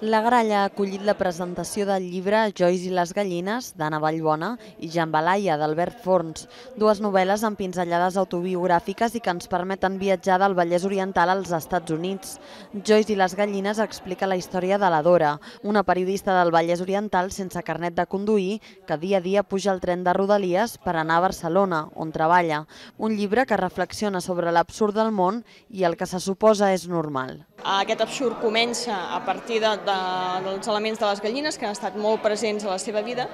La Gralla ha acollit la presentació del llibre Joyce i les gallines, d'Anna Vallbona, i Jambalaya, d'Albert Forns, dues novel·les amb pinzellades autobiogràfiques i que ens permeten viatjar del Vallès Oriental als Estats Units. Joyce i les gallines explica la història de la Dora, una periodista del Vallès Oriental sense carnet de conduir que dia a dia puja al tren de Rodalies per anar a Barcelona, on treballa. Un llibre que reflexiona sobre l'absurd del món i el que se suposa és normal. Aquest absurd comença a partir dels elements de les gallines que han estat molt presents a la seva vida,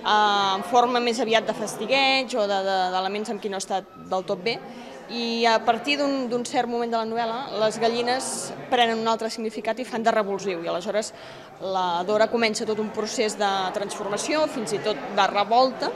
en forma més aviat de fastigueig o d'elements amb qui no ha estat del tot bé, i a partir d'un cert moment de la novel·la les gallines prenen un altre significat i fan de revulsiu, i aleshores la Dora comença tot un procés de transformació, fins i tot de revolta,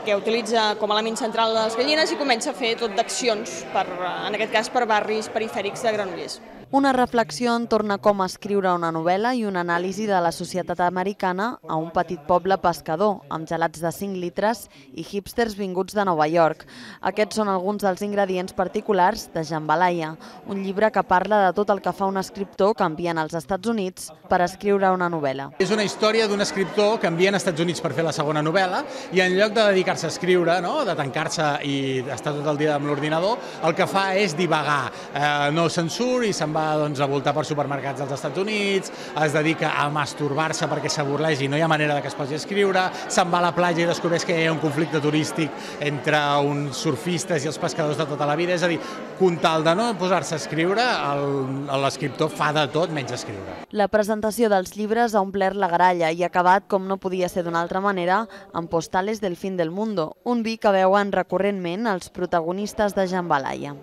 que utilitza com a element central les gallines i comença a fer tot d'accions, en aquest cas per barris perifèrics de Granollers. Una reflexió entorn a com escriure una novel·la i una anàlisi de la societat americana a un petit poble pescador, amb gelats de 5 litres i hipsters vinguts de Nova York. Aquests són alguns dels ingredients particulars de Jambalaya, un llibre que parla de tot el que fa un escriptor que envien als Estats Units per escriure una novel·la. És una història d'un escriptor que envien als Estats Units per fer la segona novel·la i en lloc de dedicar-se a escriure, de tancar-se i estar tot el dia amb l'ordinador, el que fa és divagar, no se'n surt i se'n va a voltar per supermercats dels Estats Units, es dedica a masturbar-se perquè s'avorreix i no hi ha manera que es posi a escriure, se'n va a la platja i descobreix que hi ha un conflicte turístic entre uns surfistes i els pescadors de tota la vida, és a dir, con tal de no posar-se a escriure, l'escriptor fa de tot menys escriure. La presentació dels llibres ha omplert la Gralla i ha acabat, com no podia ser d'una altra manera, amb Postales del fin del mundo, un vi que veuen recurrentment els protagonistes de Jambalaya.